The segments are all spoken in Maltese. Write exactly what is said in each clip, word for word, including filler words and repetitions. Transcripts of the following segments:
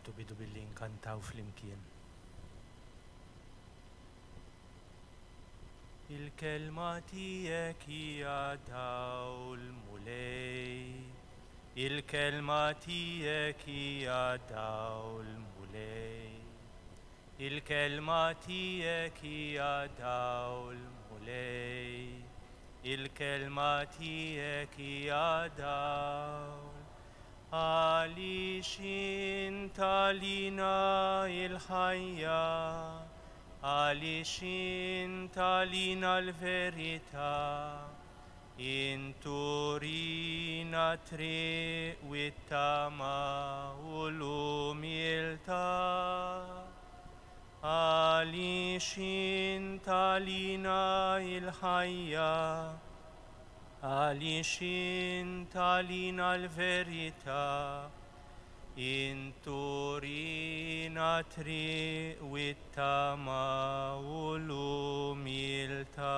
Nagħtu bidu billi nkantaw flimkien. Il-kelma tiegħek hija dawl, Mulej. Il-kelma tiegħek hija dawl, Mulej. Il-kelma tiegħek hija dawl, Mulej. Il-kelma tiegħek hija dawl. Għaliex int għalina il-ħajja, għaliex int għalina l-verità, int turina t-triq u t-tama u l-umiltà. Għaliex int għalina il-ħajja, għaliex int għalina l-verità, int turina t-triq u t-tama u l-umiltà.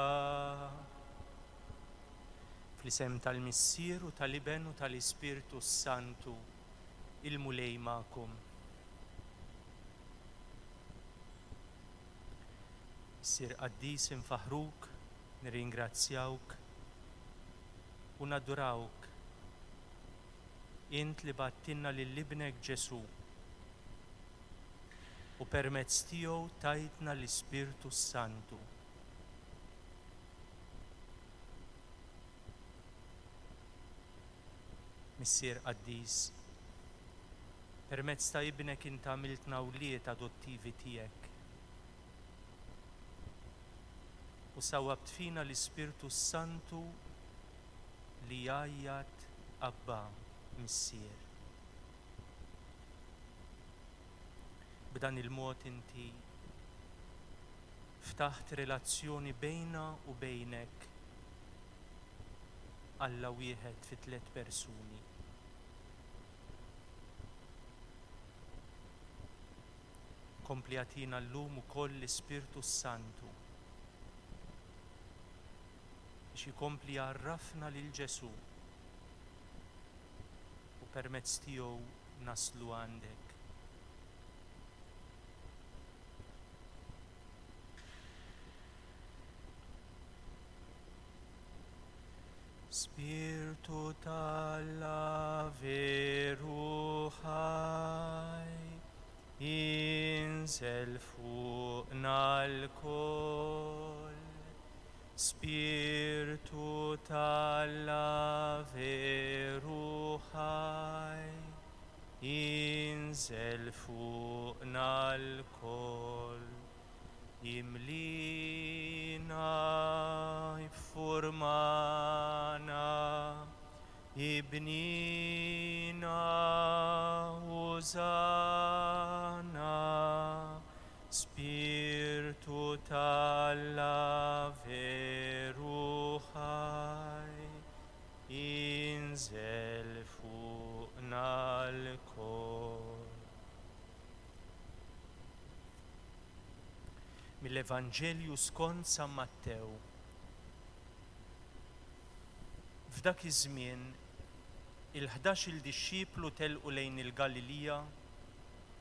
Fl-isem tal-Missier u tal-Iben u tal-Ispirtu s-Santu, il-Mulej magħkom. Missier qaddis, infaħruk, nirringrazzjawk u nadurawk. Int li bgħattilna lil Ibnek Ġesù u permezz tiegħu tajtna l-Ispirtu s-Santu. Missier qaddis, permezz ta' Ibnek int għamiltna wlied adottivi tiegħek u sawwabt fina l-Ispirtu s-Santu li jgħajjat Abba, Missier. B'dan il-mod inti ftaħt relazzjoni bejna u bejnek, Alla wieħed fi tliet persuni. Kompli agħtina llum ukoll l-Ispirtu s-Santu biex ikompli jgħarrafna lil Ġesù u permezz tiegħu naslu għandek. Spirtu t'Alla veru ħaj, inżel fuqna lkoll. Spirtu t'Alla veru ħaj, inżel fuqna lkoll. Imlina, iffurmana, ibnina, użana. Spirtu t'Alla veru ħaj, inżel fuqna lkoll. Mill-Evanġelju skont San Mattew. F'dak iż-żmien, il-ħdax-il dixxiplu telqu lejn il-Galilija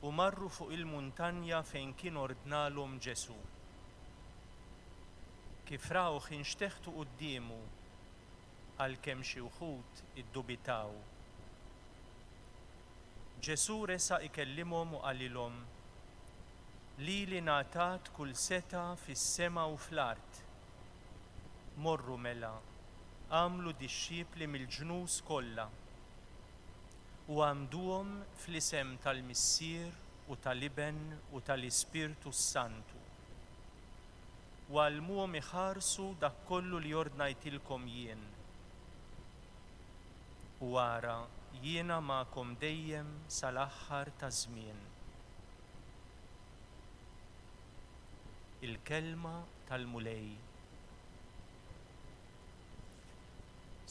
u marru fuq il-muntanja fejn kien ordnalhom Ġesù. Kif rawh inxteħtu quddiemu, għalkemm xi wħud iddubitaw. Ġesù resaq ikellimhom u qalilhom: Lili ngħatat kull setgħa fis-sema u fl-art. Morru mela, għamlu dixxipli mill-ġnus kollha u għamduhom fl-isem tal-Missier u tal-Iben u tal-Ispirtu s-Santu. U għallmuhom iħarsu dak kollu li ordnajtilkom jien. U ara, jiena magħkom dejjem sal-aħħar taż-żmien. Il-kelma tal-Mulej.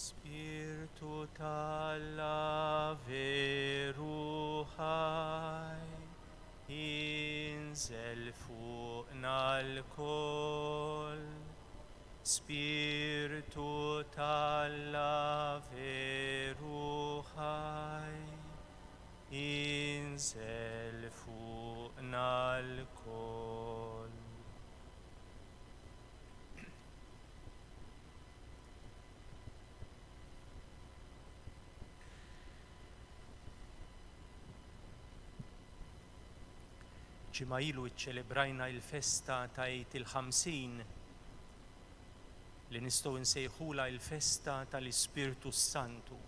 Spirtu t'Alla veru ħaj, inżel fuqna lkoll. Spirtu t'Alla veru ħaj, Inżel fuqna lkoll. Ġimgħa ilu ċċelebrajna l-festa ta' Għid il-Ħamsin, li nistgħu nsejħulha l-festa tal-Ispirtu s-Santu.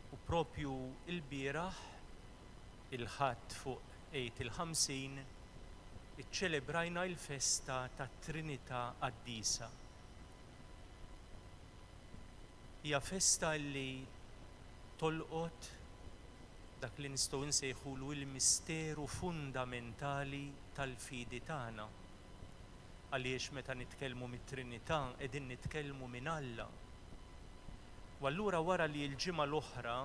U propju l-bieraħ, il-Ħadd fuq Għid il-Ħamsin, iċċelebrajna l-festa tat-Trinità Qaddisa. Hija festa li tolqot dak li nistgħu nsejħulu il-misteru fundamentali tal-fidi tagħna. Għaliex meta nitkellmu mit-Trinità qegħdin nitkellmu minn Alla. U allura wara li l-ġimgħa l-oħra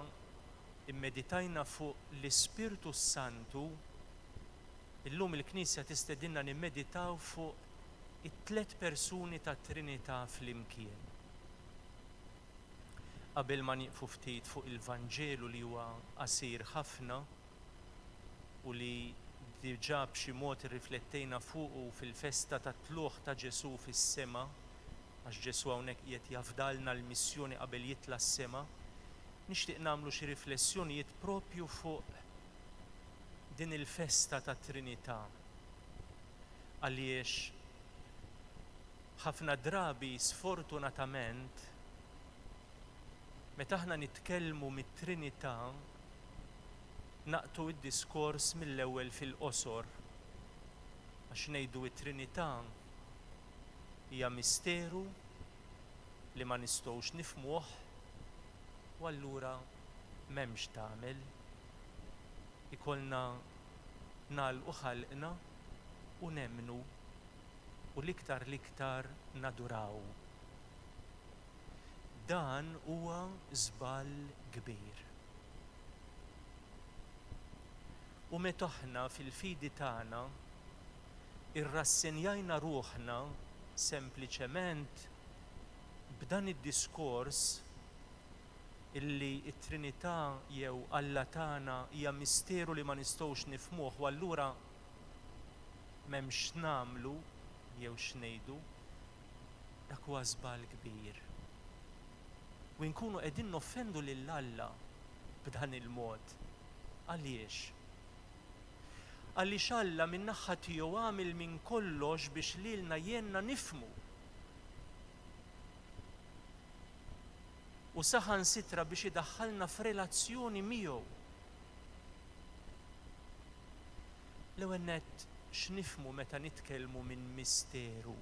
immeditajna fuq l-Ispirtu s-Santu, illum il-Knisja tistedinna nimmeditaw fuq it-tliet persuni tat-Trinità flimkien. Qabel ma nieqfu ftit fuq il-Vanġelu li huwa qasir ħafna u li diġà b'xi mod irriflettejna fuqu fil-festa tat-tlugħ ta' Ġesù fis-sema, għax Ġesù hawnhekk qiegħed jafdalna l-missjoni qabel jitla' s-sema, nixtieq nagħmlu xi riflessjonijiet propju fuq din il-festa tat-Trinità. Għaliex ħafna drabi sfortunatament meta aħna nitkellmu mit-Trinità naqtu id-diskors mill-ewwel fil-qosor, għax ngħidu it-Trinità hija misteru li ma nistgħux nifhmuh u allura m'hemmx tagħmel. Ikollna nagħlqu ħalqna u nemmnu u l-iktar l-iktar naduraw. Dan huwa żball kbir. U meta aħna fil-fidi tagħna irrassenjajna ruħna sempliċement b'dan id-diskors illi t-Trinità jew Alla tagħna hija misteru li ma nistgħux nifhmuh u allura m'hemmx nagħmlu jew x'ngħidu, dak huwa żball kbir. U nkunu qegħdin noffendu lil Alla b'dan il-mod. Għaliex? Għaliex Alla min-naħa tiegħu għamel minn kollox biex lilna jenna nifhmu. U saħansitra biex idaħħalna f'relazzjoni miegħu. L-ewwel nett x'nifhmu meta nitkellmu minn misteru?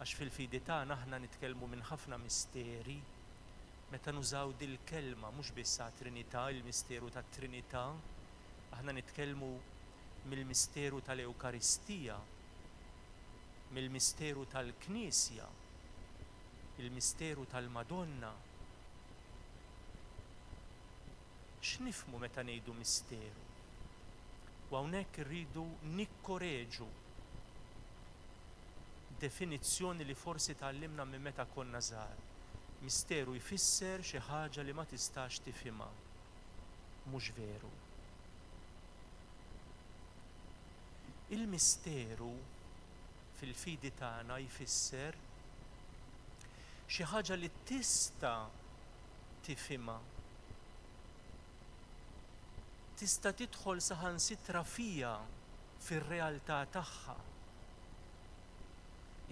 Għax fil-fidi tagħna aħna nitkellmu minn ħafna misteri. Meta nużaw dil-kelma mhux biss għat-Trinità, il-misteru tat-Trinità, aħna nitkellmu mill-misteru tal-Ewkaristija, mill-misteru tal-Knisja, il-misteru tal-Madonna. X'nifhmu meta ngħidu misteru? U hawnhekk irridu nikkoreġu definizzjoni li forsi tgħallimna minn meta konna żgħar. Misteru jfisser xi ħaġa li ma tistax tifhimha. Mhux veru. Il-misteru fil-fidi tagħna jfisser xi ħaġa li tista' tifhimha. Tista' tidħol saħansitra fija fir-realtà tagħha.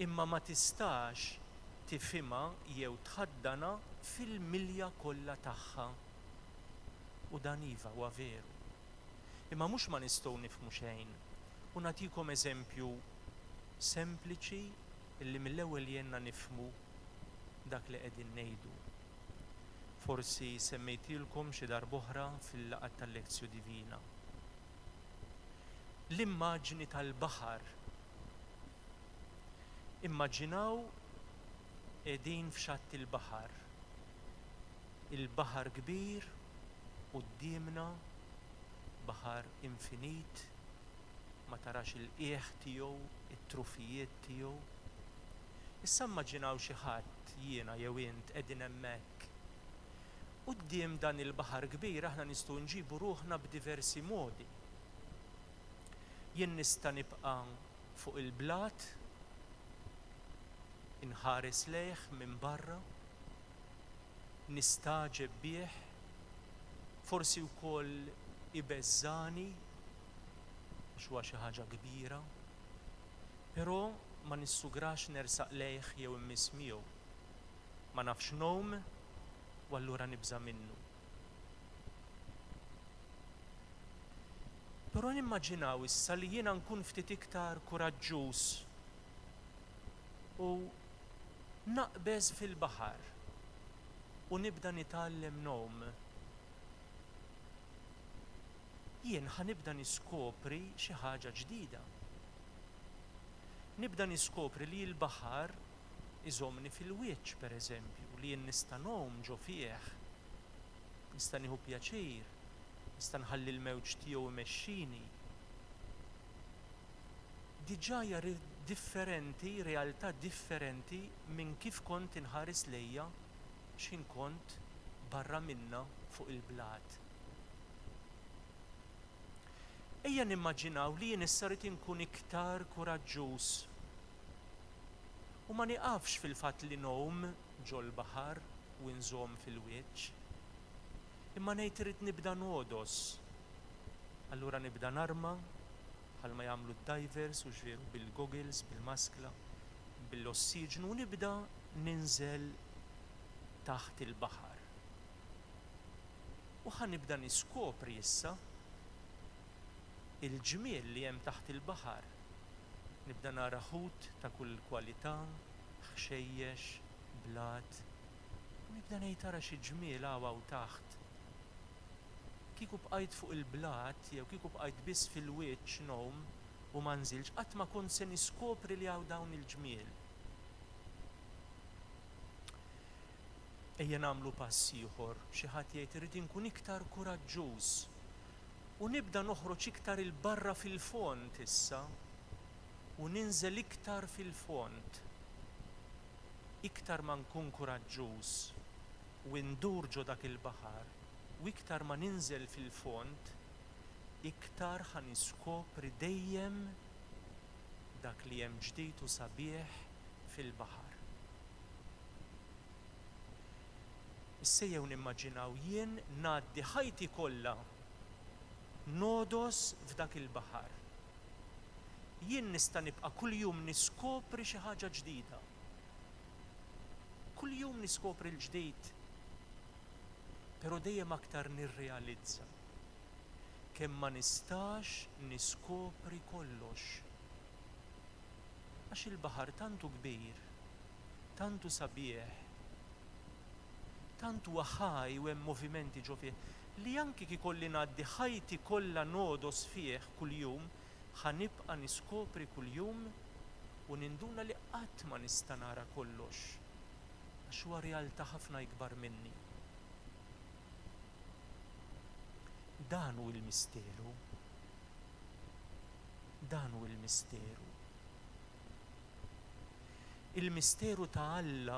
Imma ma tistax tifhimha jew tħaddana fil-milja kollha tagħha. U dan iva huwa veru. Imma mhux ma nistgħu nifhmu xejn. U nagħtikom eżempju sempliċi illi mill-ewwel jenna nifhmu dak li qegħdin ngħidu. Forsi semmejtilkom xi darb'oħra fil-laqgħa tal-Lectio Divina. L-immaġni tal-baħar. Immaġinaw qegħdin f'xatt il-baħar. Il-baħar kbir quddiemna, baħar infinit, ma tarax il-qiegħ tiegħu, it-trufijiet tiegħu. Issa immaġinaw xi ħadd, jiena jew int, qegħdin hemmhekk. Quddiem dan il-baħar kbir aħna nistgħu nġibu ruħna b'diversi modi. Jien nista' nibqa' fuq il-blat, inħares lejh minn barra, nistagħġeb bih, forsi wkoll ibeżżani għax huwa xi ħaġa kbira, però ma nissugrax nersaq lejh jew immiss miegħu. Ma nafx ngħum u allura nibża' minnu. Però nimmaġinaw issa li jiena nkun ftit iktar kuraġġuż u naqbeż fil-baħar u nibda nitgħallem ngħum. Jien ħa nibda niskopri xi ħaġa ġdida. Nibda niskopri li l-baħar iżommni fil-wiċċ, pereżempju, li jien nista' ngħum ġo fih, nista' nieħu pjaċir, nista' nħalli l-mewġ tiegħu imexxini. Diġà hija differenti, realtà differenti minn kif kont inħares lejja x'ħin kont barra minna fuq il-blat. Ejja nimmaġinaw li jien issa rrid inkun iktar kuraġġuż u ma nieqafx fil-fatt li ngħum ġol-baħar u nżomm fil-wiċċ, imma ngħid irrid nibda nogħdos. Allura nibda narma bħalma jagħmlu d-divers u x'veru bil-goggles, bil-maskla, bil-ossiġnu u nibda ninżel taħt il-baħar. U ħa nibda niskopri issa il-ġmiel li hemm taħt il-baħar. Nibda nara ħut ta' kull kwalità, ħxejjex, blat, u nibda ngħid ara xi ġmiel hawn hawn taħt. Kieku bqajt fuq il-blat jew kieku bqajt biss fil-wiċċ ngħum u ma nżilx, qatt ma kont se niskopri li hawn dawn il-ġmiel. Ejja nagħmlu pass ieħor, xi ħadd jgħid irrid inkun iktar kuraġġuż u nibda noħroġ iktar 'il barra fil-fond issa u ninżel iktar fil-fond. Iktar ma nkun kuraġġuż u ndur ġo dak il-baħar u iktar ma ninżel fil-fond, iktar ħa niskopri dejjem dak li hemm ġdid u sabiħ fil-baħar. Issa jew nimmaġinaw jien ngħaddi ħajti kollha nogħdos f'dak il-baħar. Jien nista' nibqa' kuljum niskopri xi ħaġa ġdida. Kuljum niskopri l-ġdid. Però dejjem aktar nirrealizza kemm ma nistax niskopri kollox. Għax il-baħar tantu kbir, tantu sabiħ, tant huwa ħaj u hemm movimenti ġo fih, li anki kif ikolli ngħaddi ħajti kollha nogħdos fih kuljum, ħa nibqa' niskopri kuljum u ninduna li qatt ma nista' nara kollox, għax huwa realtà ħafna ikbar minni. Dan hu l-misteru. Dan hu l-misteru. Il-misteru ta' Alla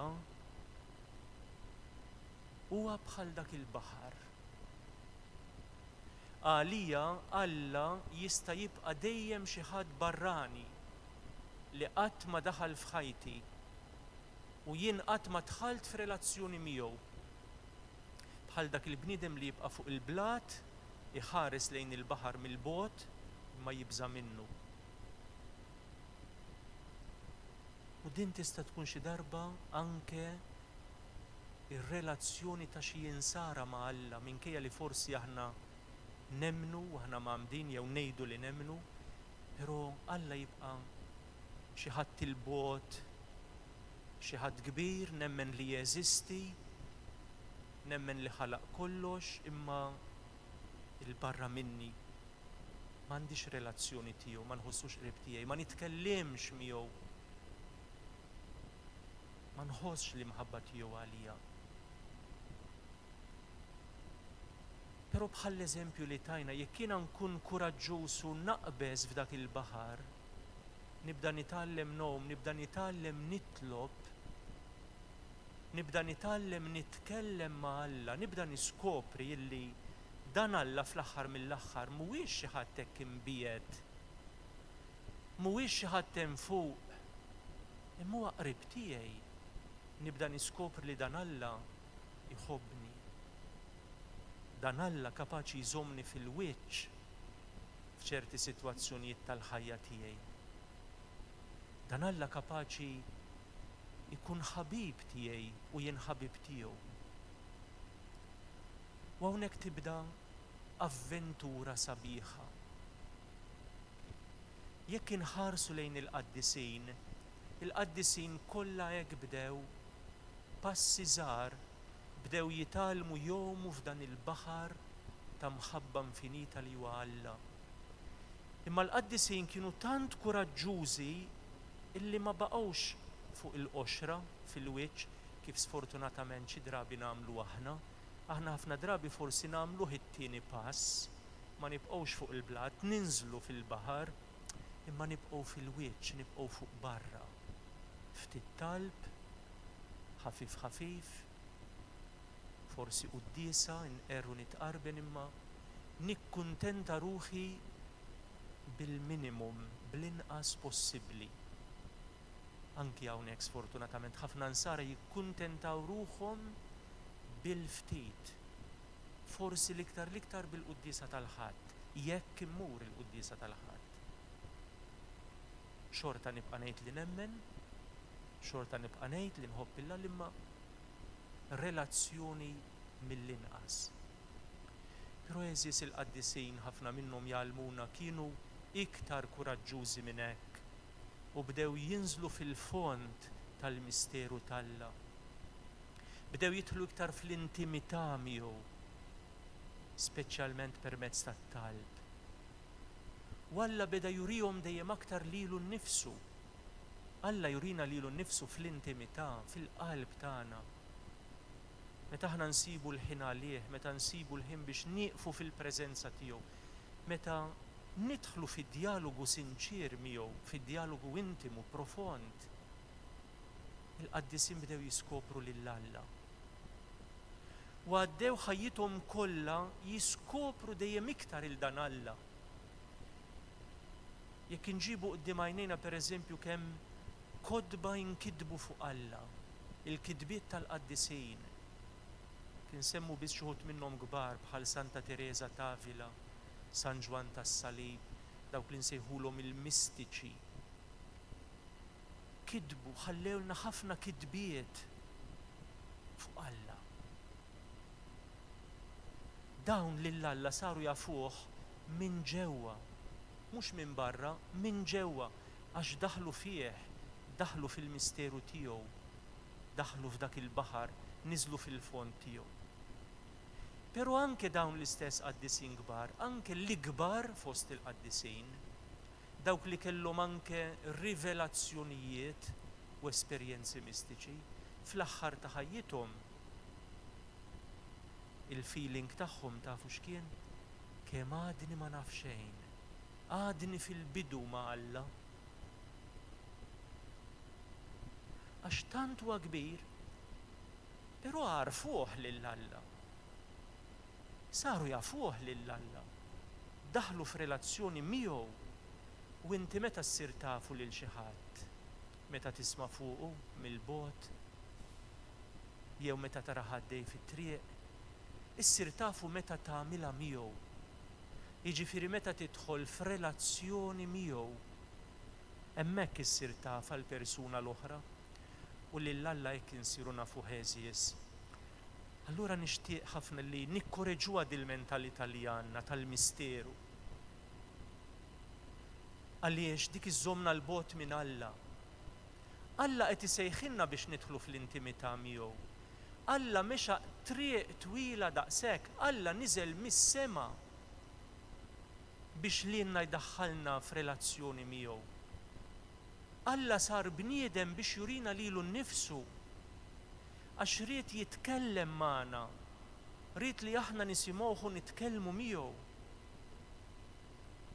huwa bħal dak il-baħar. Għalija Alla jista' jibqa' dejjem xi ħadd barrani li qatt ma daħal f'ħajti u jien qatt ma dħalt f'relazzjoni miegħu. Bħal dak il-bniedem li jibqa' fuq il-blat, iħares lejn il-baħar mill-bogħod imma jibża' minnu. U din tista' tkun xi darba anke ir-relazzjoni ta' xi insara ma' Alla, minkejja li forsi aħna nemmnu u aħna mgħammdin jew ngħidu li nemmnu, però Alla jibqa' xi ħadd il-bogħod, xi ħadd kbir, nemmen li jeżisti, nemmen li ħalaq kollox, imma il-barra minni m'għandix relazzjoni tiegħu, ma nħossux qrib tiegħi, ma nitkellimx miegħu, ma nħossx l-imħabba tiegħu għalija. Però bħall-eżempju li tajna, jekk jiena nkun kuraġġuż u naqbeż f'dak il-baħar, nibda nitgħallem ngħum, nibda nitgħallem nitlob, Nibda nitgħallem nitkellem ma' Alla, nibda niskopri illi dan Alla fl-aħħar mill-aħħar mhuwiex xi ħadd hekk imbiegħed, mhuwiex xi ħadd hemm fuq, imma huwa qrib tiegħi. Nibda niskopri li dan Alla jħobbni. Dan Alla kapaċi jżommni fil-wiċċ f'ċerti sitwazzjonijiet tal-ħajja tiegħi. Dan Alla kapaċi jkun ħabib tiegħi u jien ħabib tiegħu. U hawnhekk tibda avventura sabiħa. Jekk inħarsu lejn il-qaddisin, il-qaddisin kollha hekk bdew, passi żgħar, bdew jitgħallmu jgħumu f'dan il-baħar ta' mħabba infinita li huwa Alla. Imma l-qaddisin kienu tant kuraġġużi illi ma baqgħux fuq il-qoxra fil-wiċċ kif sfortunatament xi drabi nagħmlu aħna. Aħna ħafna drabi forsi nagħmluh it-tieni pass, ma nibqgħux fuq il-blat, ninżlu fil-baħar, imma nibqgħu fil-wiċċ, nibqgħu fuq barra. Ftit talb, ħafif ħafif, forsi quddiesa, nqerru nitqarben, imma nikkuntenta ruħi bil-minimum, bl-inqas possibbli. Anki hawnhekk sfortunatament ħafna nsara jikkuntentaw ruħhom bil-ftit, forsi l-iktar l-iktar bil-quddiesa tal-Ħadd, jekk immur il-quddiesa tal-Ħadd. Xorta nibqa' ngħid li nemmen, xorta nibqa' ngħid li nħobb 'il Alla, imma relazzjoni mill-inqas. Però għeżież, il-qaddisin ħafna minnhom jgħallmuna kienu iktar kuraġġużi minn hekk u bdew jinżlu fil-fond tal-misteru t'Alla. Bdew jidħlu iktar fl-intimità miegħu, speċjalment permezz tat-talb. U Alla beda jurihom dejjem aktar lilu nnifsu. Alla jurina lilu nnifsu fl-intimità, fil-qalb tagħna. Meta aħna nsibu l-ħin għalih, meta nsibu l-ħin biex nieqfu fil-preżenza tiegħu, meta nidħlu fid-dialogu sinċier miegħu, fid-dialogu intimu, profond, il-qaddisin bdew jiskopru lil Alla. U għaddew ħajjithom kollha jiskopru dejjem iktar il dan Alla. Jekk inġibu quddiem għajnejna pereżempju kemm kotba inkitbu fuq Alla, il-kitbiet tal-qaddisin, kien semmu biss xi wħud minnhom kbar bħal Santa Teresa t'Avila, San Ġwann tas-Salib, dawk li nsejħulhom il-mistiċi. Kitbu, ħallewlna ħafna kitbiet fuq Alla. Dawn lil Alla saru jafuh minn ġewwa, mhux minn barra, minn ġewwa, għax daħlu fih, daħlu fil-misteru tiegħu, daħlu f'dak il-baħar, niżlu fil-fond tiegħu. Però anke dawn l-istess qaddisin kbar, anke l-ikbar fost il-qaddisin, dawk li kellhom anke rivelazzjonijiet u esperjenzi mistiċi, fl-aħħar ta' ħajjithom il-feeling tagħhom tafu x'kien? Kemm għadni ma naf xejn, għadni fil-bidu ma' Alla. Għax tant huwa kbir, però għarfuh lil Alla. Saru jafuh lil Alla. Daħlu f'relazzjoni miegħu. U inti meta ssir tafu lil xi ħadd? Meta tisma' fuqu mill-bogħod? Jew meta tara ħaddej fit-triq? Issir tafu meta tagħmilha miegħu. Jiġifieri meta tidħol f'relazzjoni miegħu. Hemmhekk issir taf għall-persuna l-oħra u lil Alla hekk insiru nafu għeżież. Allura nixtieq ħafna li nikkoreġuha dil-mentalità li għandna tal-misteru. Għaliex dik iżżommna l-bogħod minn Alla. Alla qed isejħilna biex nidħlu fl-intimità miegħu. Alla mexa triq twila daqshekk, Alla niżel mis-sema biex lilna jdaħħalna f'relazzjoni miegħu. Alla sar bniedem biex jurina lilu nnifsu, għax ried jitkellem magħna, ried li aħna nisimgħuh u nitkellmu miegħu.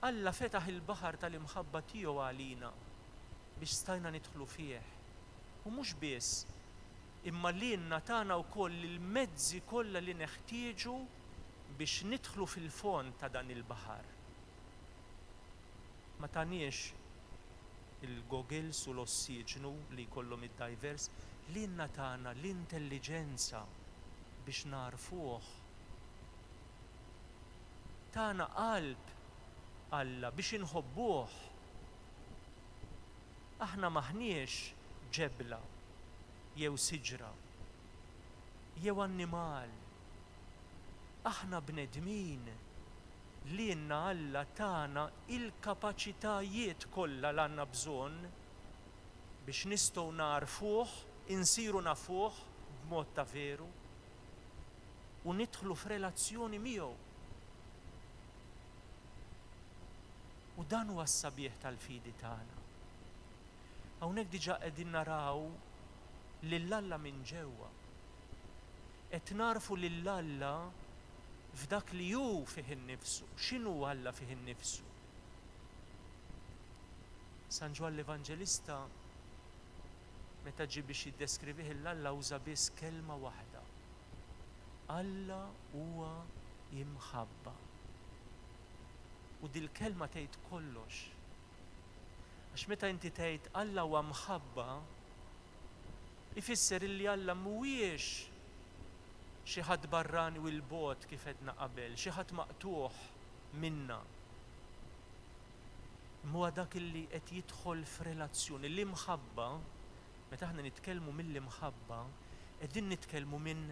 Alla fetaħ il-baħar tal-imħabba tiegħu għalina biex stajna nidħlu fih. U mhux biss, Imma lilna tana wkoll il-mezzi kollha li neħtieġu biex nidħlu fil-fond ta' dan il-baħar. Ma taniex il-goggles u l-ossiġnu li jkollhom id-divers, lilna tana l-intelliġenza biex narfuh. Tana qalb Alla biex inħobbuh. Aħna m'aħniex ġebla jew siġra jew annimal. Aħna bnedmin lilna Alla tana il-kapaċitajiet kollha li għandna bżonn biex nistgħu narfuh, insiru nafuh b'mod ta' veru u nidħlu f'relazzjoni miegħu. U dan huwa s-sabiħ tal-fidi tagħna. Hawnhekk diġà qegħdin naraw lil Alla minn ġewwa. Qed narfu lil Alla f'dak li hu fih innifsu. X'inhu Alla fih innifsu? San Ġwann l-Evanġelista meta ġie biex jiddeskrivih lil Alla uża biss kelma waħda. Alla huwa imħabba. U dil-kelma tgħid kollox. Għax meta inti tgħid Alla huwa mħabba, ifisser illi Alla mhuwiex xi ħadd barrani u l-bogħod kif għedna qabel, xi ħadd maqtugħ minna. Huwa dak illi qed jidħol f'relazzjoni. L-imħabba, meta aħna nitkellmu mill-imħabba, qegħdin nitkellmu minn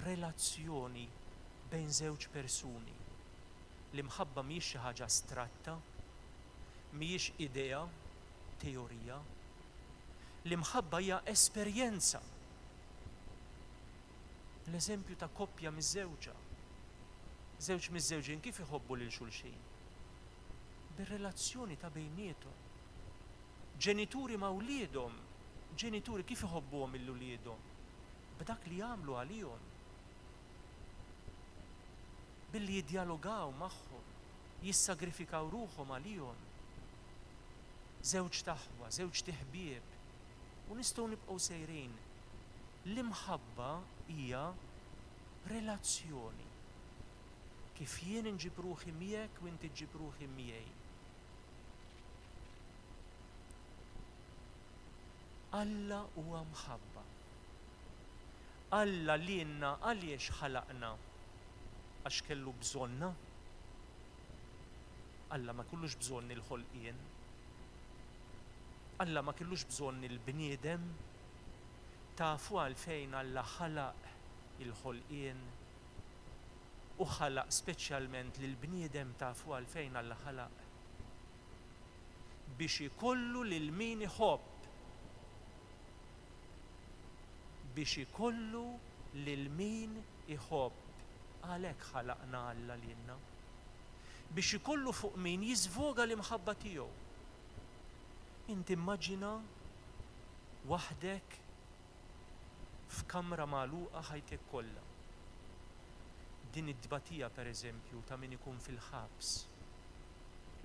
relazzjoni bejn żewġ persuni. L-imħabba mhijiex xi ħaġa astratta, mhijiex idea, teorija. L-imħabba hija esperjenza. L-eżempju ta' koppja miżżewġa. Żewġ miżżewġin kif iħobbu lil xulxin? Bir-relazzjoni ta' bejniethom. Ġenituri ma' wliedhom, ġenituri kif iħobbuhom lil uliedhom? B'dak li jagħmlu għalihom. Billi jiddjalogaw magħhom, jissagrifikaw ruħhom għalihom. Żewġ t'aħwa, żewġ ħbieb, u nistgħu nibqgħu sejrin. L-imħabba hija relazzjoni. Kif jien inġib ruħi miegħek u inti ġġib ruħi miegħi. Alla huwa mħabba. Alla lilna għaliex ħalaqna? Għax kellu bżonna? Alla ma kellux bżonn il-ħolqien. Alla ma kellux bżonn il-bniedem. Tafu għalfejn Alla ħalaq il-ħolqien u ħalaq speċjalment lill-bniedem? Tafu għalfejn Alla ħalaq? Biex ikollu lil min iħobb. Biex ikollu lil min iħobb. Għalhekk ħalaqna Alla lilna. Biex ikollu fuq min jiżvoga l-imħabba tiegħu. Inti immaġina waħdek f'kamra magħluqa ħajtek kollha. Din it-tbatija pereżempju ta' min ikun fil-ħabs.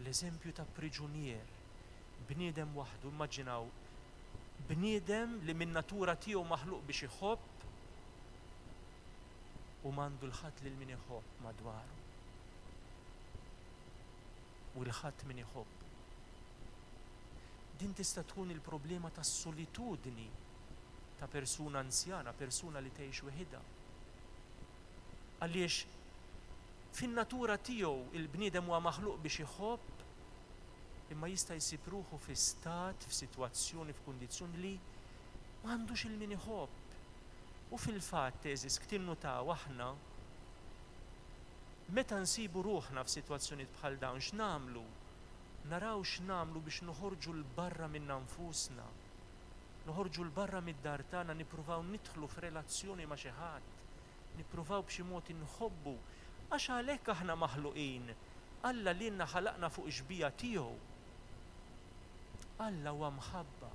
L-eżempju ta' priġunier, bniedem waħdu, immaġinaw bniedem li min natura tiegħu maħluq biex iħobb u m'għandu l-ħadd lil min iħobb madwaru. U l-ħadd min iħobb. Din tista' tkun il-problema tas-solitudni ta' persuna anzjana, persuna li tgħix weħidha. Għaliex fin-natura tiegħu il-bniedem huwa maħluq biex iħobb, imma jista' jsib ruħu fi stat, f'sitwazzjoni, f'kundizzjoni li m'għandux il-min iħobb. U fil-fatt, eżis, tinnutaw aħna meta nsibu ruħna f'sitwazzjonijiet bħal dawn, x'nagħmlu? Naraw x'nagħmlu biex noħorġu 'l barra minna nfusna. Noħorġu 'l barra mid-dar tagħna, nippruvaw nidħlu f'relazzjoni ma' xi ħadd, nippruvaw b'xi mod inħobbu, għax għalhekk aħna maħluqin. Alla lilna ħalaqna fuq ix-xbieha tiegħu. Alla huwa mħabba.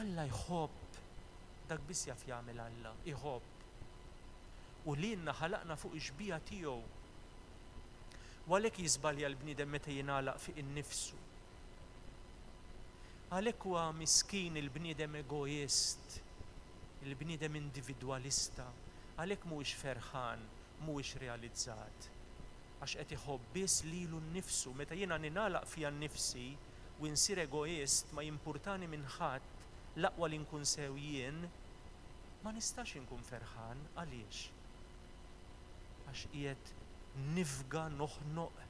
Alla jħobb. Dak biss jaf jagħmel Alla, iħobb. U lilna ħalaqna fuq ix-xbieha tiegħu. U għalhekk jiżbalja l-bniedem meta jingħalaq fiq innifsu. Għalhekk huwa miskin il-bniedem egoist Il-bniedem individwalista, għalhekk mhuwiex ferħan, mhuwiex realizzat. Għax qed iħobb biss lilu nnifsu. Meta jiena ningħalaq fija nnifsi u nsir egoist, ma jimpurtani minn ħadd, l-aqwa li nkun sew jien, ma nistax inkun ferħan. Għaliex? Għax qiegħed nifga, noħnoq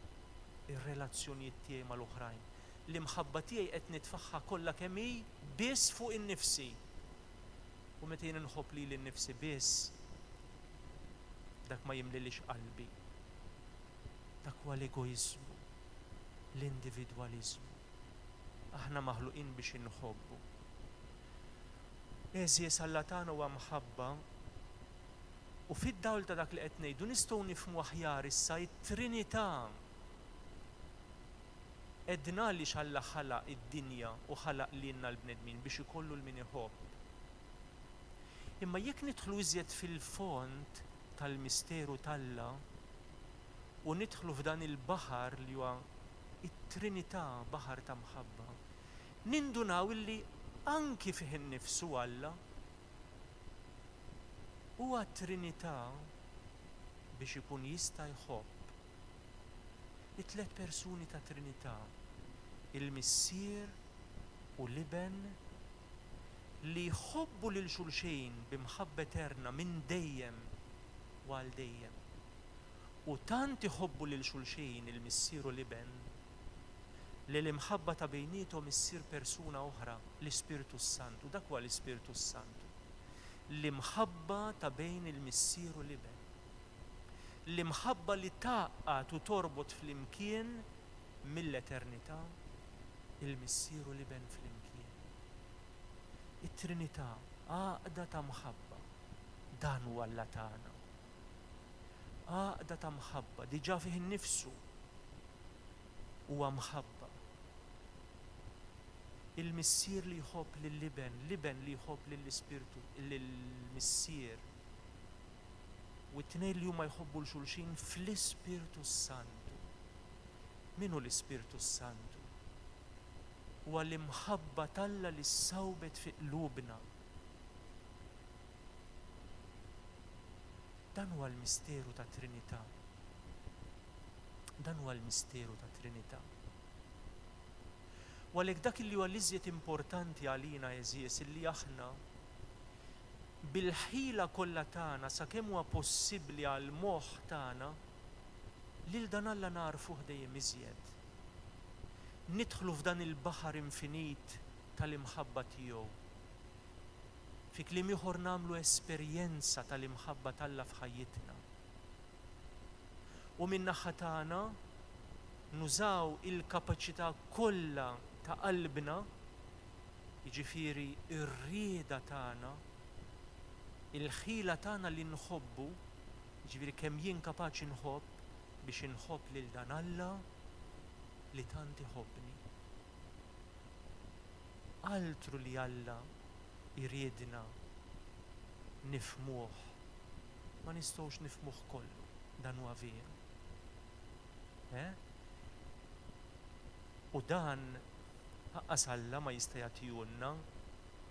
ir-relazzjonijiet tiegħi mal-oħrajn. L-imħabba tiegħi qed nitfaħħa kollha kemm hi biss fuq innifsi. U meta jien inħobb lili nnifsi biss, dak ma jimlilix qalbi. Dak huwa l-egoiżmu, l-individwaliżmu. Aħna maħluqin biex inħobbu. Għeżież, Alla tagħna huwa mħabba, u fid-dawl ta' dak li qed ngħidu nistgħu nifhmu aħjar issa t-Trinità. Għedna għaliex Alla ħalaq id-dinja u ħalaq lilna l-bnedmin biex ikollu l-min iħobb. Imma jekk nidħlu iżjed fil-fond tal-misteru t'Alla u nidħlu f'dan il-baħar li huwa it-Trinità, baħar ta' mħabba, nindunaw illi anki fih innifsu Alla huwa Trinità biex ikun jista' jħobb. It-tliet persuni ta' Trinità, il-Missier u l-Iben, li jħobbu lil xulxin b'imħabba eterna minn dejjem u għal dejjem. U tant iħobbu lil xulxin il-Missier u l-Iben li l-imħabba ta' bejniethom issir persuna oħra, l-Ispirtu Santu. Dak huwa l-Ispirtu Santu. L-imħabba ta' bejn il-Missier u l-Iben. L-imħabba li tgħaqqad u torbot flimkien mill-eternità il-Missier u l-Iben flimkien. It-Trinità, għaqda ta' mħabba. Dan huwa Alla tagħna. Għaqda ta' mħabba, diġà fih innifsu huwa mħabba. Il-Missier li jħobb lill-Iben, l-Iben li jħobb lill-Ispirtu, lill-Missier. U t-tnejn li huma jħobbu l xulxin fl-Ispirtu Santu. Min hu l-Ispirtu Santu? Huwa l-imħabba t'Alla li ssawbet fi qlubna. Dan huwa l-misteru ta' Trinità. Dan huwa l-misteru ta' Trinità. U għalhekk dak li huwa l-iżjed importanti għalina, għeżież, illi aħna bil-ħila kollha tagħna sakemm huwa possibbli għall-moħħ tagħna lil dan Alla nagħrfuh dejjem iżjed. Nidħlu f'dan il-baħar infinit tal-imħabba tiegħu. Fi kliem ieħor nagħmlu esperjenza tal-imħabba t'Alla f'ħajjitna. U min-naħa tagħna nużaw il-kapaċità kollha ta' qalbna, jiġifieri r-rieda tagħna, il-ħila tagħna li nħobbu, jiġifieri kemm jien kapaċi nħobb biex inħobb lil dan Alla li tant iħobbni. Altru li Alla jridna nifhmuh, ma nistgħux nifhmuh kollu, dan huwa veru. Eh? U dan lanqas Alla ma jista' jagħtihulna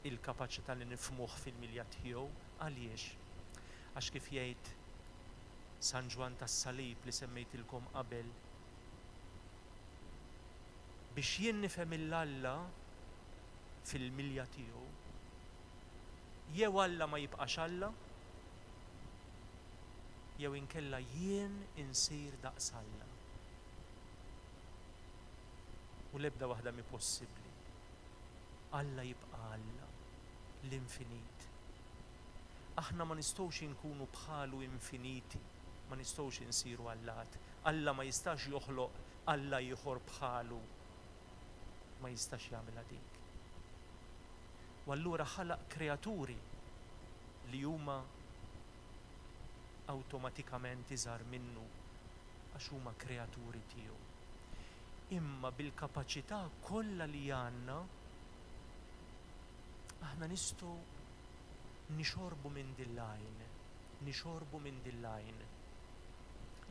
il-kapaċità li nifhmuh fil-milja tiegħu. Għaliex? Għax kif jgħid San Ġwann tas-Salib li semmejtilkom qabel, biex jien nifhem il-Alla fil-milja tiegħu, jew Alla ma jibqax Alla, jew inkella jien insir daqs Alla. U l-ebda waħda mi possibbli. Alla jibqa' Alla, l-infinit. Aħna ma nistgħux inkunu bħalu infiniti, ma nistgħux insiru allat. Alla ma jistax joħloq Alla ieħor bħalu, ma jistax jagħmilha dik. U allura ħalaq kreaturi li huma awtomatikament iżgħar minnu għax huma kreaturi tiegħu. Imma bil-kapaċità kollha li għandna aħna nistgħu nixorbu minn din l-għajn, nixorbu minn din l-għajn.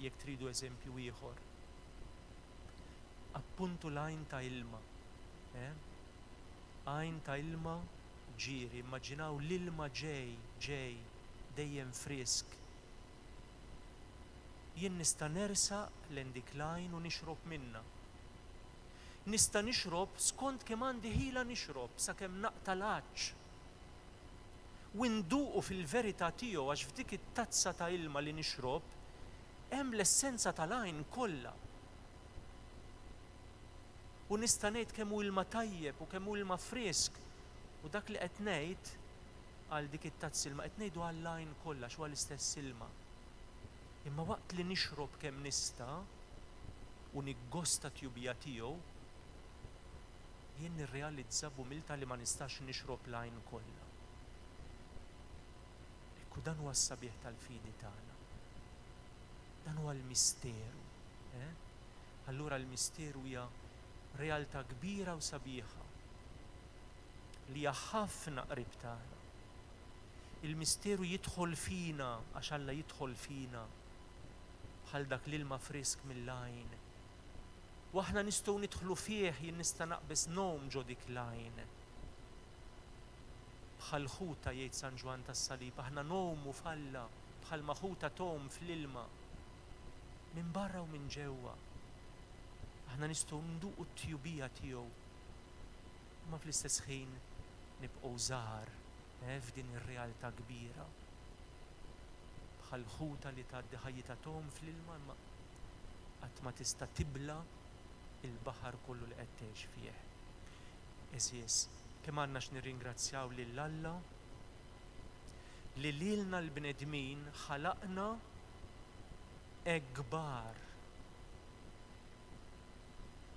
Jekk tridu eżempju ieħor, appuntu l-għajn ta' ilma, eh? Għajn ta' ilma ġieri, immaġinaw l-ilma ġej, ġej, dejjem frisk. Jien nista' nersaq lejn dik l-għajn u nixrob minnha. Nista' nixrob skont kemm għandi ħila nixrob sakemm naqta' l-għatx. U nduqu fil-verità tiegħu għax f'dik it-tazza ta' ilma li nixrob hemm l-essenza tal-għajn kollha. U nista' ngħid kemm hu ilma tajjeb u kemm hu ilma frisk u dak li qed ngħid għal dik it-tazza ilma qed ngħidu għall-għajn kollha x'huwa l-istess ilma. Imma waqt li nixrob kemm nista' u niggosta t-tjubija tiegħu, jien nirrealizza b'umiltà li ma nistax nixrob l-għajn kollha. Ekku dan huwa s-sabiħ tal-fidi tagħna. Dan huwa l-misteru. Eh? Allura l-misteru hija realtà kbira u sabiħa li hija ħafna qrib tagħna. Il-misteru jidħol fina għax Alla jidħol fina bħal dak l-ilma frisk mill-għajn. U aħna nistgħu nidħlu fih, jien nista' naqbeż ngħum ġo dik l-għajn. Bħal ħuta jgħid San Ġwann tas-Salib, aħna ngħumu f'Alla bħalma ħuta tgħum fl-ilma. Minn barra u minn ġewwa. Aħna nistgħu nduqu t-tjubija tiegħu. Imma fl-istess ħin nibqgħu żgħar eh, f'din ir-realtà kbira. Bħal ħuta li tgħaddi ħajjitha tgħum fl-ilma imma qatt ma tista' tibla il-baħar kollu li qed tgħix fih. Għeżież, kemm għandna x'nirringrazzjaw lil Alla li lilna l-bnedmin ħalaqna hekk kbar.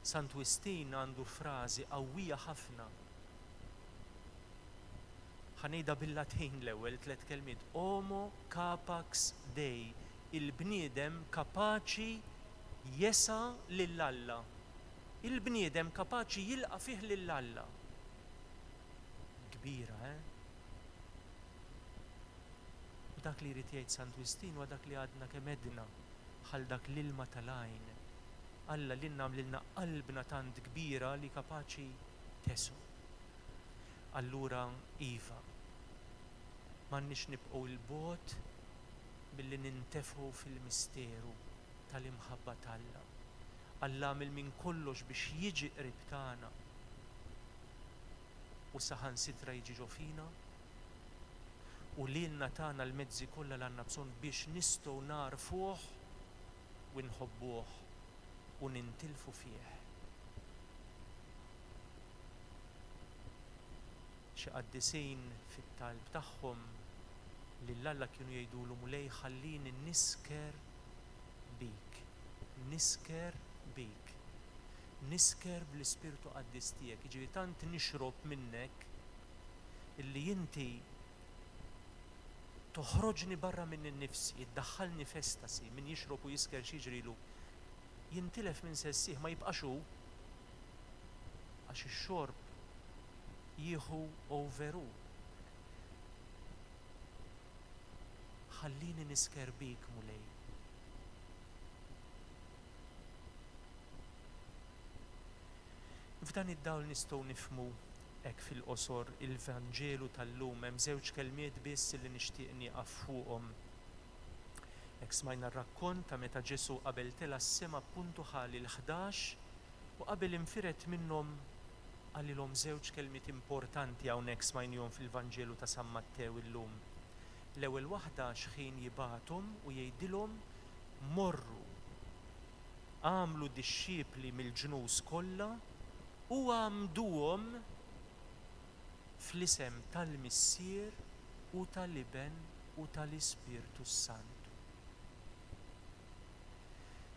Sant Wistin għandu frażi qawwija ħafna. Ħa ngħidha bil-Latin l-ewwel tliet kelmiet. Homo capax Dei, il-bniedem kapaċi jesa' lil Alla. Il-bniedem kapaċi jilqa' fih lil Alla. Kbira, eh? U dak li jrid jgħid Sant Wistin huwa dak li għadna kemm għedna bħal dak l-ilma tal-għajn. Alla lilna għamlilna qalbna tant kbira li kapaċi tesu. Allura iva, m'għandniex nibqgħu 'l bogħod milli nintefgħu fil-misteru tal-imħabba t'Alla. Alla għamel minn kollox biex jiġi qrib tagħna u saħansitra jiġi ġo fina u lilna tagħna l-mezzi kollha li għandna bżonn biex nistgħu nagħrfuh u nħobbuh u nintilfu fih. Xi qaddisin fit-talb tagħhom lil Alla kienu jgħidulu Mulej ħallini nisker bik, nisker bik, nisker bl-Ispirtu Qaddis tiegħek. Jiġifieri tant nixrob minnek illi inti toħroġni barra minn innifsi, iddaħħalni f'estasi, min jixrob u jisker x'jiġrilu, jintilef minn sessih, ma jibqax hu, għax ix-xorb jieħu over hu. Ħallini nisker bik, Mulej. F'dan id-dawl nistgħu nifhmu hekk fil-qosor il-Vanġelu tal-lum. Hemm żewġ kelmiet biss li nixtieq nieqaf fuqhom. Hekk smajna r-rakkont ta' meta Ġesù qabel tela' s-sema appuntu ħa lil ħdax u qabel infired minnhom qalilhom żewġ kelmiet importanti hawnhekk smajnihom fil-Vanġelu ta' San Mattew illum. L-ewwel waħda x'ħin jibgħathom u jgħidilhom morru, għamlu dixxipli mill-ġnus kollha u għamduhom fl-isem tal-Missier u tal-Iben u tal-Ispirtu s-Santu.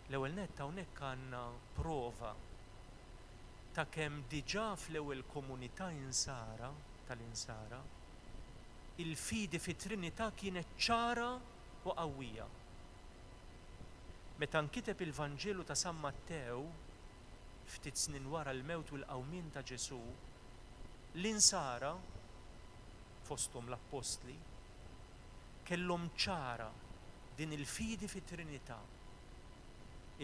L-ewwel nett hawnhekk għandna prova ta' kemm diġà fl-ewwel komunità insara tal-insara il-fidi fit-Trinità kienet ċara u qawwija. Meta nkiteb il-Vanġelu ta' San Mattew, ftit snin wara l-mewt u l-qawmien ta' Ġesù, l-insara, fosthom l-appostli, kellhom ċara din il-fidi fit-Trinità,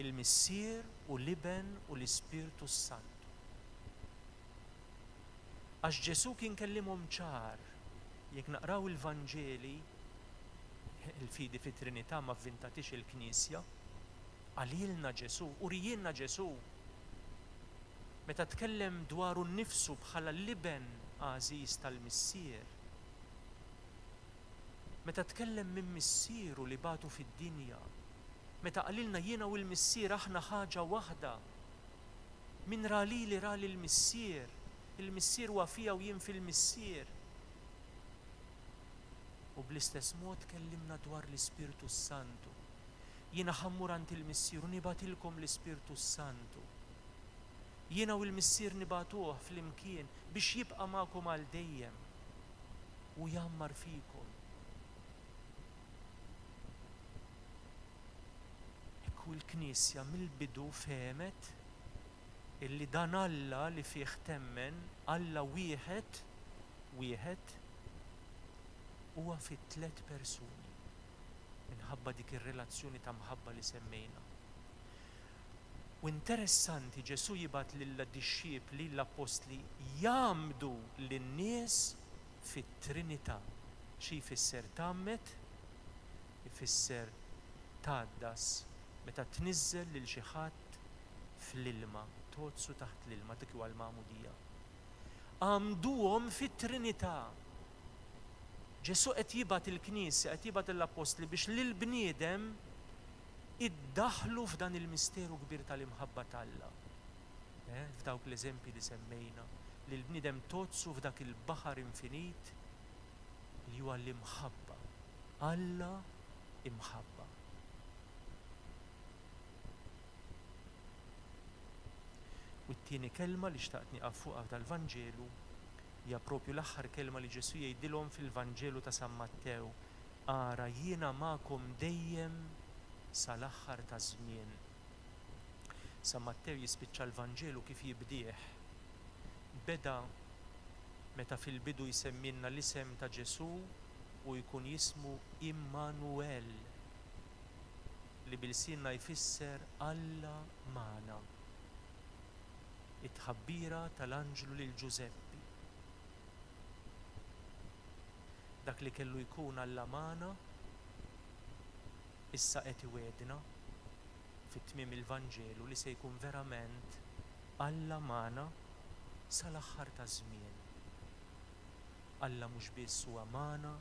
il-Missier u l-Iben u l-Ispirtu s-Santu. Għax Ġesù kien kellimhom ċar. Jekk naqraw il-Vanġeli, il-fidi fit-Trinità ma vvintatix il-Knisja, qalilna Ġesù, urijielna Ġesù. Meta tkellem dwaru nnifsu bħala l-Iben għażiż tal-Missier, meta tkellem minn Missieru li bagħtu fid-dinja, meta qalilna jiena u l-Missier aħna ħaġa waħda, min ra lili ra lill-Missier, il-Missier huwa fija u jien fil-Missier. U bl-istess mod kellimna dwar l-Ispirtu s-Santu. Jiena ħa mmur għand il-Missier u nibgħatilkom l-Ispirtu s-Santu. Jiena u l-Missier nibagħtuh flimkien biex jibqa' magħkom għal dejjem u jgħammar fikom. Ekku l-Knisja mill-bidu fehmet illi dan Alla li fih temmen, Alla wieħed, wieħed, huwa fi tliet persuni minħabba dik ir-relazzjoni ta' mħabba li semmejna. U interessanti, Ġesù jibgħat lill-dixxipli, l-appostli, jgħammdu lin-nies fit-Trinità. Xi jfisser tgħammed? Ifisser tgħaddas, meta tniżżel lil xi ħadd fl-ilma, tgħoddsu taħt l-ilma, dik huwa l-magħmudija. Għamduhom fit-Trinità. Ġesù qed jibgħat il-Knisja, qed jibgħat l-appostli biex lill-bniedem iddaħlu f'dan il-misteru kbir tal-imħabba t'Alla. Eh, f'dawk l-eżempji li semmejna, li l-bniedem tozzu f'dak il-baħar infinit li huwa l-imħabba. Alla imħabba. U t-tieni kelma li xtaqt nieqaf fuqha tal-Vanġelu hija propju l-aħħar kelma li Ġesù jgħidilhom fil-Vanġelu ta' San Mattew. Ara jiena magħkom dejjem sal-aħħar taż-żmien. San Mattew jispiċċa l-Vanġelu kif jibdih. Beda meta fil-bidu jsemmilna l-isem ta' Ġesù u jkun jismu Immanuel, li bil-sinna jfisser Alla magħna. It-tħabbira tal-anġlu lil Ġużeppi. Dak li kellu jkun Alla magħna issa qed iwegħdna fit-tmiem il-Vanġelu li se jkun verament Alla magħna sal-aħħar taż-żmien. Alla mhux biss huwa magħna,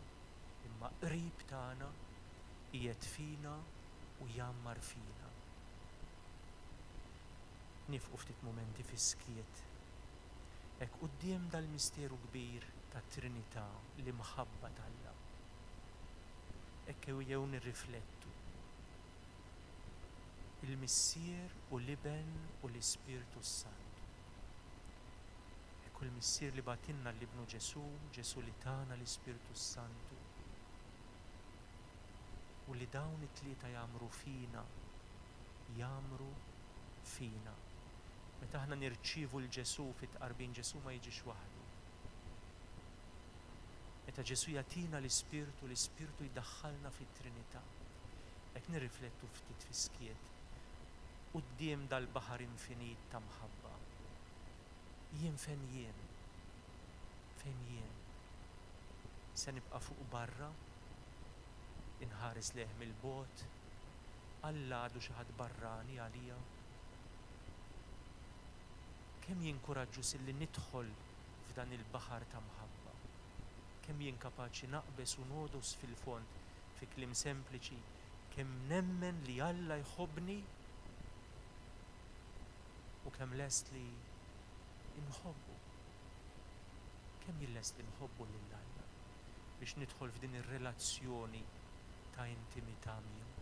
imma qrib tagħna, qiegħed fina u jgħammar fina. Nifqu ftit mumenti fis-skiet. Hekk quddiem dal-misteru kbir tat-Trinità, l-imħabba t'Alla. Hekk jew nirriflettu. Il-Missier u l-Iben u l-Ispirtu s-Santu. Hekk il-Missier li bagħtilna l-Ibnu Ġesù, Ġesù li tana l-Ispirtu s-Santu. U li dawn it-tlieta jagħmru fina, jagħmru fina. Meta aħna nirċievu l Ġesù fit-tqarbin, Ġesù ma jiġix waħdu. Meta Ġesù jagħtina l-Ispirtu, l-Ispirtu jdaħħalna fit-Trinità. Hekk nirriflettu ftit fis-skiet quddiem dal-baħar infinit ta' mħabba. Jien fejn jien? Fejn jien? Se nibqa' fuq barra? Inħares lejh mill-bogħod? Alla għadu xi ħadd barrani għalija? Kemm jien kuraġġuż illi nidħol f'dan il-baħar ta' mħabba? Kemm jien kapaċi naqbeż u nogħdos fil-fond, fi kliem sempliċi, kemm nemmen li Alla jħobbni u kemm lest li nħobbu. Kemm jien lest li nħobbu lil Alla biex nidħol f'din ir-relazzjoni ta' intimità miegħu.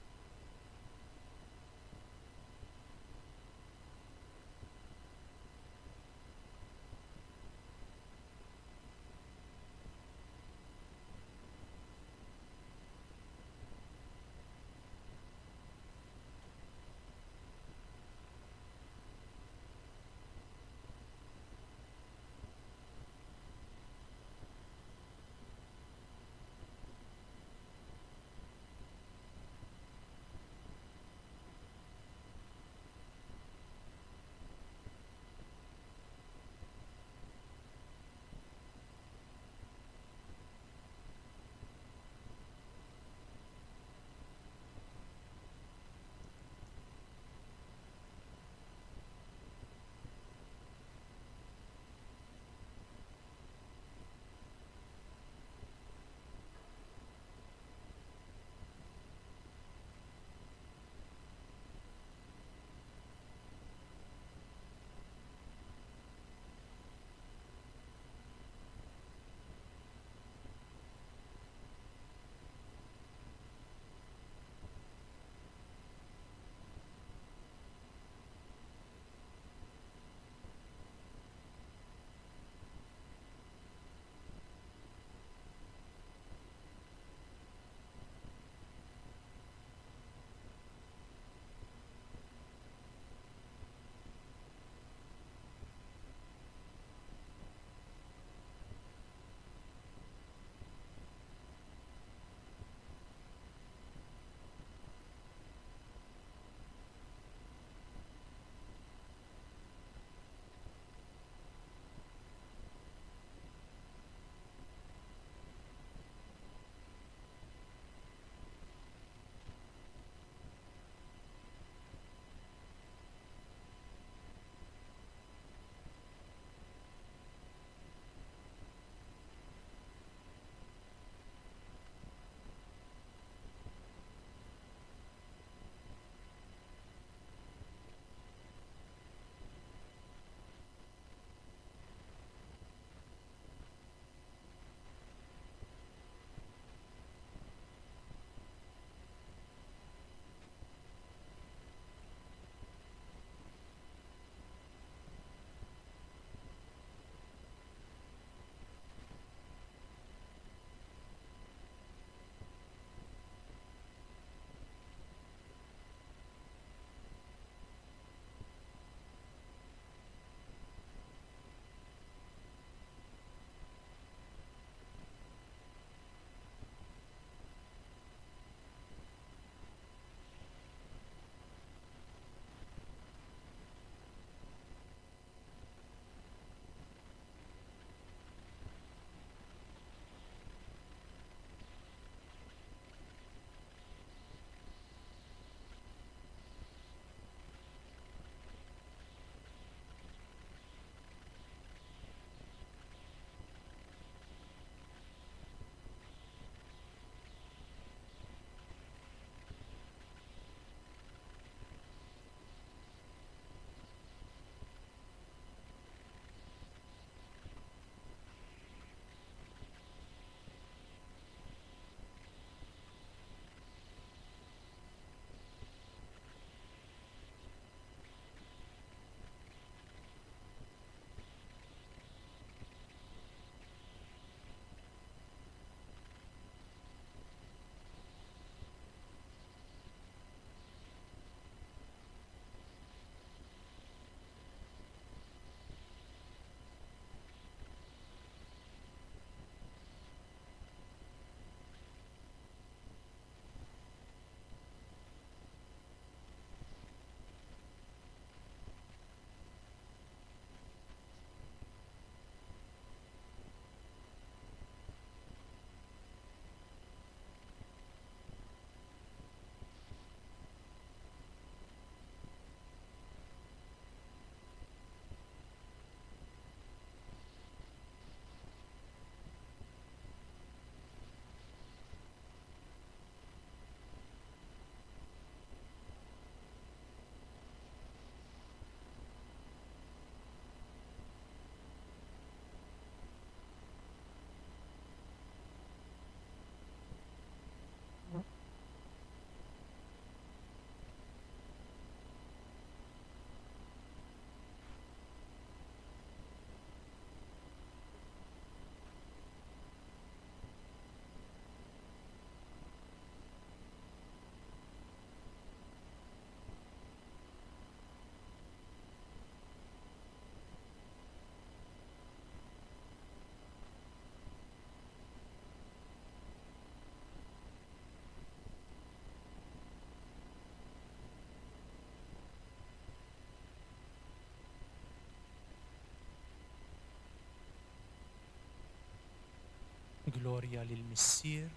Glorja lill-Missier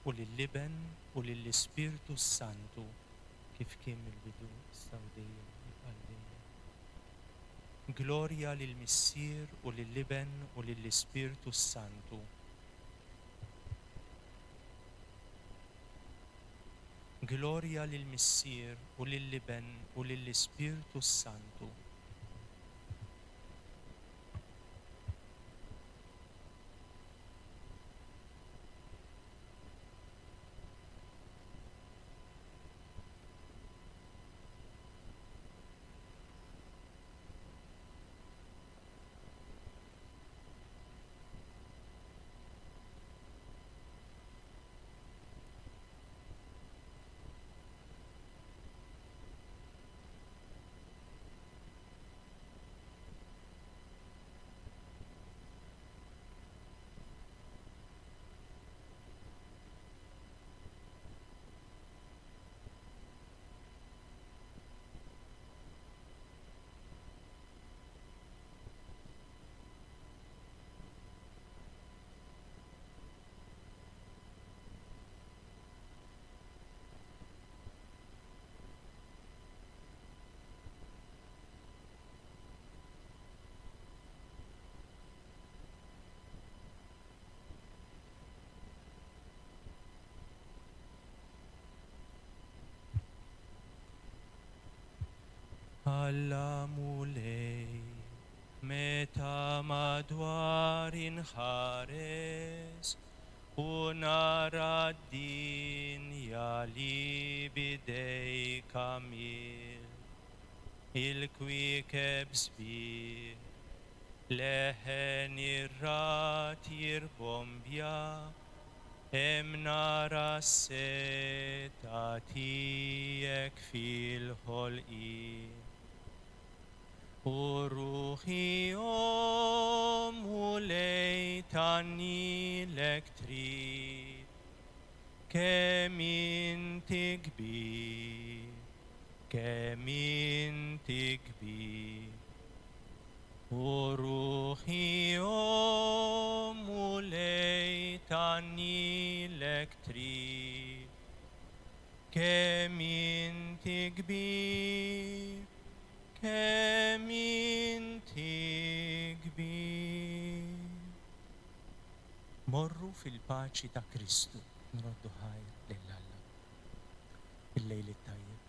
u lill-Iben u lill-Ispirtu Santu, kif kien mill-bidu issa u dejjem għal dejjem. Glorja lill-Missier u lill-Iben u lill-Ispirtu Santu. Glorja lill-Missier u lill-Iben u lill-Ispirtu Santu. Alla Mulej, meta madwar inħares u nara d-dinja li bidejk għamil, il-kwiekeb sbieħ, leħen ir-rat jirbombja, hemm nara s-setgħa tiegħek fil-ħolqien. U ruħi o Mulej tgħannilek trid, kemm inti kbir, kemm inti kbir. U ruħi o Mulej tgħannilek trid, kemm inti kbir, kemm inti kbir. Morru fil-paċi ta' Kristu, nroddu ħajr lil Alla. Il-lejl it-tajjeb.